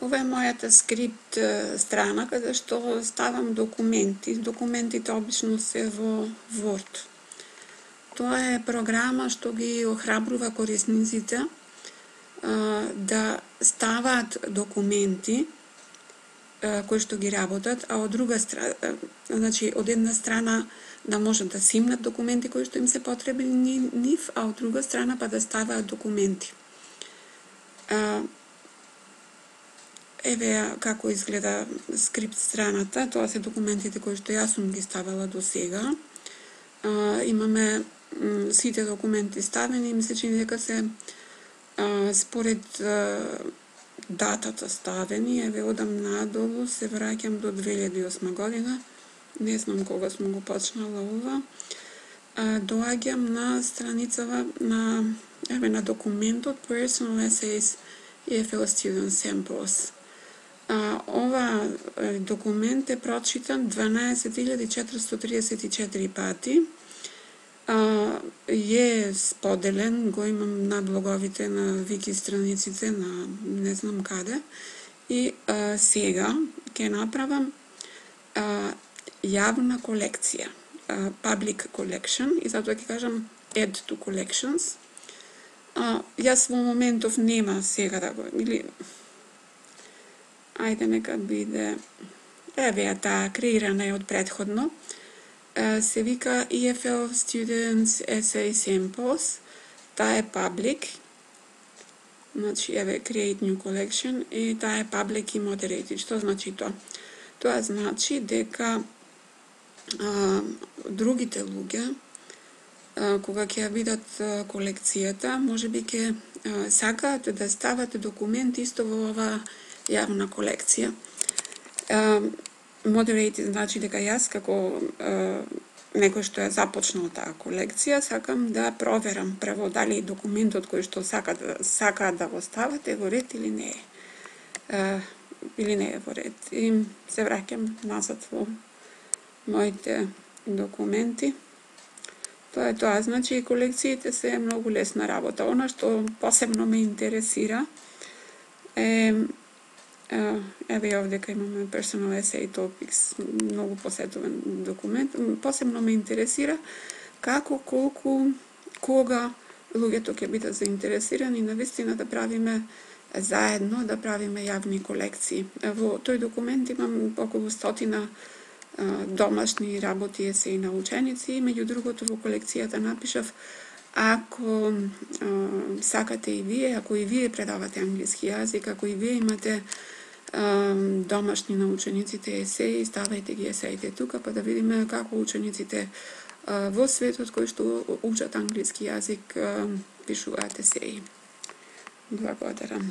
Ова е мојата скрипт страна каде што ставам документи. Документите обично се во Word. Тоа е програма што ги охрабрува корисниците да ставаат документи кои што ги работат, а од друга страна, значи од една страна да можат да симнат документи кои што им се потребни нив, а од друга страна па да ставаат документи. Еве како изгледа скрипт страната, тоа се документите кои што јас сум ги ставала до сега. Имаме сите документи ставени, ми се чини дека се според датата ставени, еве одам надолу, се враќам до 2008 година, не знам кога сум го почнала ова. Доаѓам на страницава на документот Personal Essays EFL Student Samples. Ова документ е прочитан 12.434 пати. Е споделен, го имам на блоговите, на вики страниците, на не знам каде. И сега ќе направам јавна колекција, public collection, и затоа ќе кажам add to collections. Јас во моментов нема сега да го, или ајде нека биде, еве таа креирана е од претходно, се вика EFL Students Essay Samples, таа е public, значи еве create new collection, и таа е public и moderated. Што значи тоа? Тоа значи дека другите луѓе, кога ќе ја видат колекцијата, можеби ќе сакаат да стават документи исто во оваа јавна колекција. Moderated значи дека јас како некој што е започнал таа колекција, сакам да проверам прво дали документот кој што сакаат да го стават е во ред или не е. Или не е во ред. И се враќам назад во моите документи. Тоа е тоа. Значи, колекциите се многу лесна работа. Она што посебно ме интересира е, еве овдека имаме Personal Essay Topics, многу посетуван документ. Посебно ме интересира како, колку, кога луѓето ќе бидат заинтересирани навистина да правиме заедно, да правиме јавни колекции. Во тој документ имам околу 100 домашни работи, есеи на ученици, меѓу другото во колекцијата напишав ако сакате и вие, ако и вие предавате англиски јазик, ако и вие имате домашни на учениците есеи, ставајте ги есеите тука, па да видиме како учениците во светот кои што учат англиски јазик пишуваат есеи. Благодарам.